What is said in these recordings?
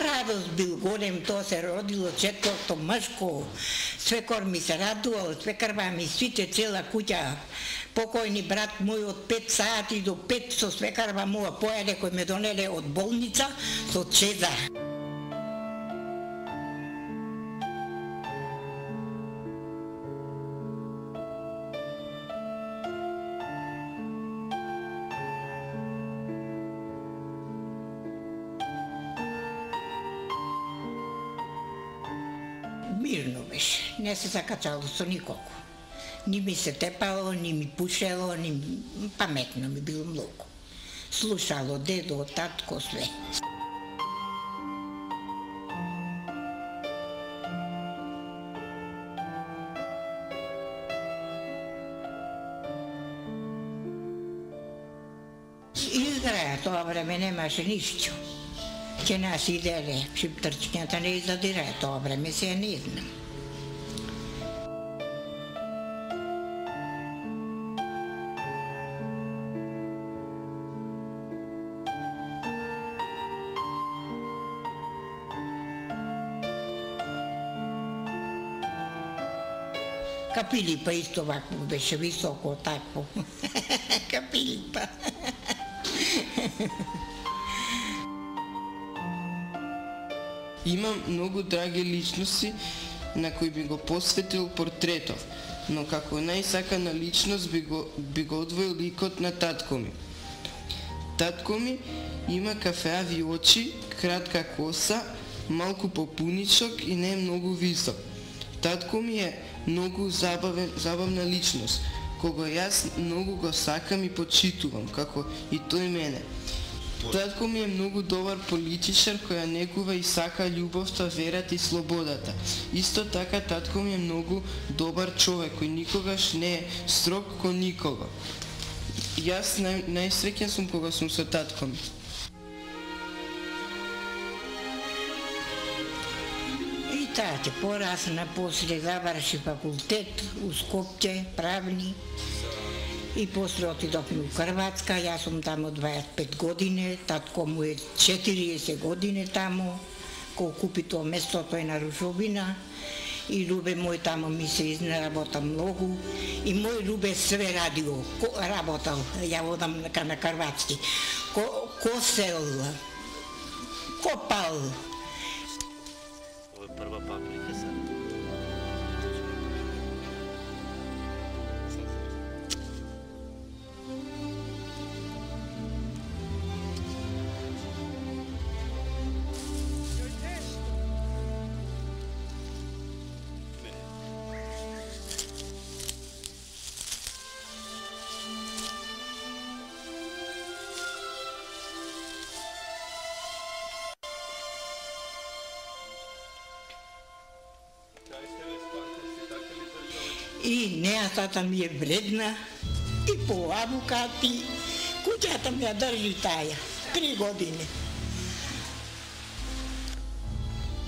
радост бил голем, тоа се родило четврто мшко. Свекор ми се радувал, свекарва ми свите цела куќа. Покојни брат мој од 5 сати до 5 со свекарва моја појаде кој ме донеле од болница со чеза. Мирно беше, не се закачало со никого. Ни ми се тепало, ни ми пушело, ни паметно ми било многу. Слушало дедо, татко, све. Изграја, тоа време немаше ништо. Ќе нас иделе, шиптрчкињата не издадираја тоа време, се не знам. Капилипа исто вакво беше, високо такво. Капилипа. Имам многу драги личности на кои би го посветил портретов, но како најсакана личност би го одвоил ликот на татко ми. Татко ми има кафеави очи, кратка коса, малку попуничок и не е многу висок. Татко ми е многу забавна личност, кога јас многу го сакам и почитувам, како и тој мене. Татко ми е многу добар политичар кој ја негува и сака љубовта, верата и слободата. Исто така татко ми е многу добар човек кој никогаш не е строг кон никого. Јас најсреќен сум кога сум со татко ми. И тате порасна, после заврши факултет у Скопје, правни. И после отидовме у Хрватска, јас сум таму 25 години, татко му е 40 години таму, кога купи тоа место, тој на Рушовина. И Любе мој таму ми се изнаработа многу. И мој Любе све радио, работал, ја водам на Хрватски. Косел, копал. Ова е прва паприка сега. И неатата ми е вредна, и по авокати, куќата ми ја држи таја, 3 години.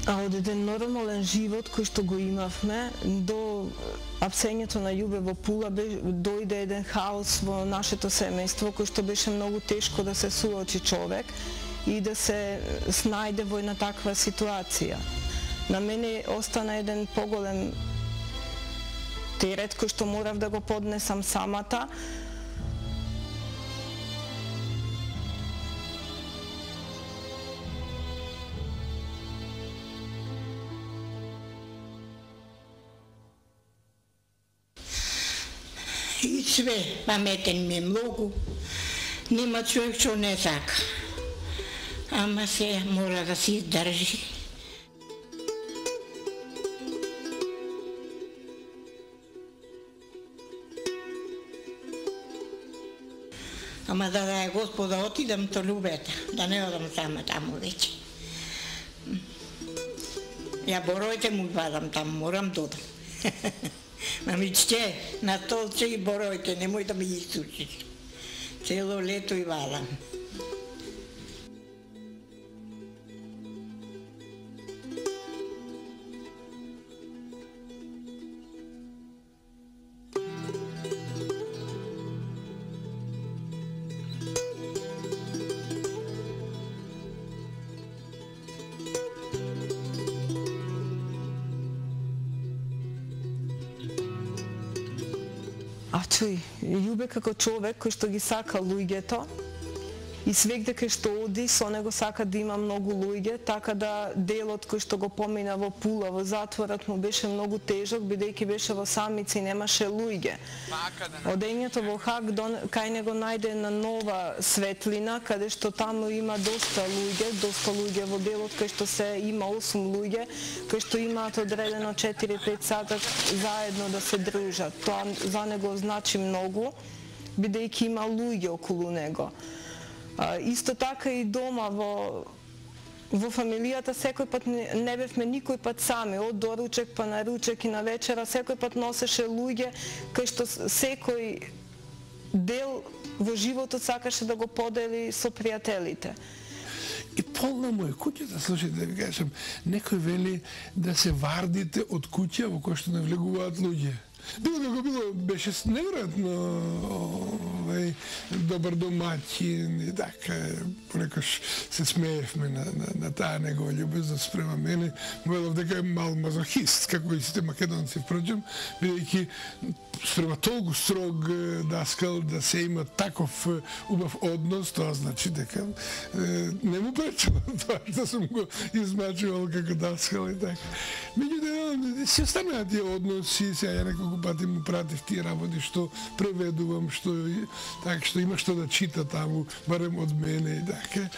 А од еден нормален живот кој што го имавме, до апсењето на Љубе во Пула дојде еден хаос во нашето семејство кој што беше многу тешко да се суочи човек и да се снајде во една таква ситуација. На мене остана еден поголем терет кој што морав да го поднесам самата. И све, паметен ми е многу. Нема човек што не сака. Ама се мора да си издржи. Ама да е Господа, отидам то Любета, да не одам сама таму веќе. Ја боројте му вадам таму, морам додам. Мамичке, на столче и боројте, немој да ми ги сушиш. Цело лето и вадам. чуј, Љубе како човек кој што ги сака луѓето, и свегде кај што оди, со него сака да има многу луѓе, така да делот кој што го помина во Пула, во затворот му беше многу тежок, бидејќи беше во самица и немаше луѓе. Одењето во Хаг кај него најде една нова светлина, каде што таму има доста луѓе во делот кај што се има 8 луѓе, кои што имаат одредено 4-5 сата заедно да се дружат. Тоа за него значи многу, бидејќи има луѓе околу него. Исто така и дома во фамилијата секој пат не бевме никој пат сами, од доручек па на ручек и на вечера, секој пат носеше луѓе кај што секој дел во животот сакаше да го подели со пријателите. И полна му е куќата, слушайте, да ви кажам, некој вели да се вардите од куќа во која што не влегуваат луѓе. Било како било, беше неверојатно добар домаќин и така, понекогаш се смеевме на таа негова љубезност спрема мене. Велов дека е мал мазохист, како и сите македонци, впрочем, бидејќи спрема толку строг даскал да се има таков убав однос, тоа значи дека не му пречело тоа што сум го измачувал како даскал и така. Меѓутоа, си останаа тие односи, сега ја неколку пати му пратив тие работи што преведувам, што има што да чита таму, барем од мене и така.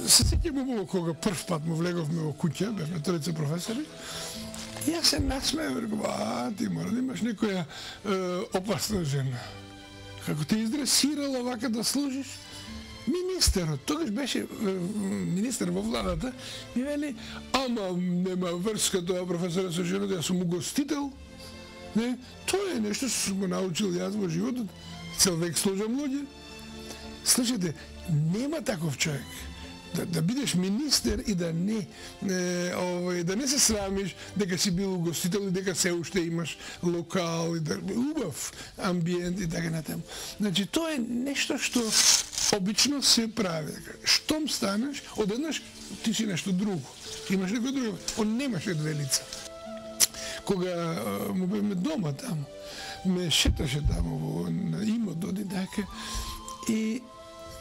Се сеќавам убаво кога прв пат му влеговме во куќа, бевме тројца професори, и јас се насмеев, реков, ти мора да имаш некоја опасна жена. Како те издресирала вака да служиш? Министерот, тогаш беше министер во владата, ми вели, ама нема врска тоа професора со жената, јас сум угостител. Не, тоа е нешто што сум го научил јас во животот. Цел век служам луѓе. Слушайте, нема таков човек. Да бидеш министер и да не се срамиш дека си бил угостител и дека се уште имаш локал и убав амбиент и така натаму. Значи тоа е нешто што обично се прави. Штом станеш, одеднаш ти си нешто друго. Имаш некој друго. Он немаше две лица. Кога му бевме дома таму, ме шеташе таму на имот, така, и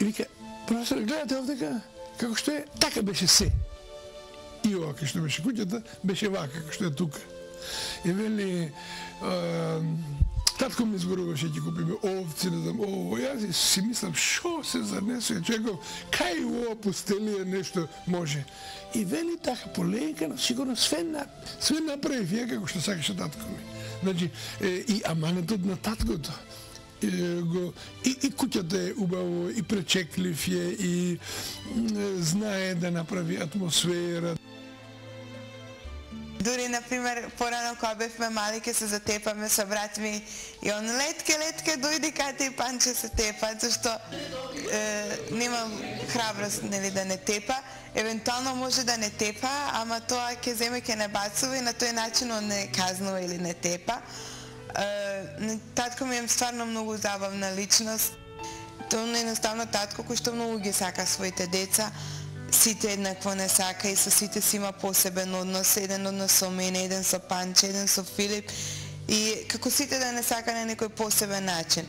вика, професор, гледате овдека, како што е, така беше се. И ова, кај што беше куќата, беше вака, како што е тука. И вели, татко ми зборуваше, ќе купиме овци, не знам, јас си мислам, шо се занесува, човеков, кај ова пустелија нешто може. И вели така полека, сигурно све направив ја како што сакаше татко ми. Значи, и аманетот на таткото. И куќата е убаво, и пречеклив е, и знае да направи атмосфера. Дури, например, порано кога бевме мали, ке се затепаме со брат ми и он летке, дојди кате и панче се тепа, зашто нема храброст, нели, да не тепа. Евентуално може да не тепа, ама тоа ќе земе, ќе не бацува и на тој начин он не казнува или не тепа. Татко ми е стварно многу забавна личност. Тоа е едноставно татко кој што многу ги сака своите деца. Сите еднакво не сака и со сите си има посебен однос. Еден однос со мене, еден со Панче, еден со Филип. И како сите да не сака на некој посебен начин.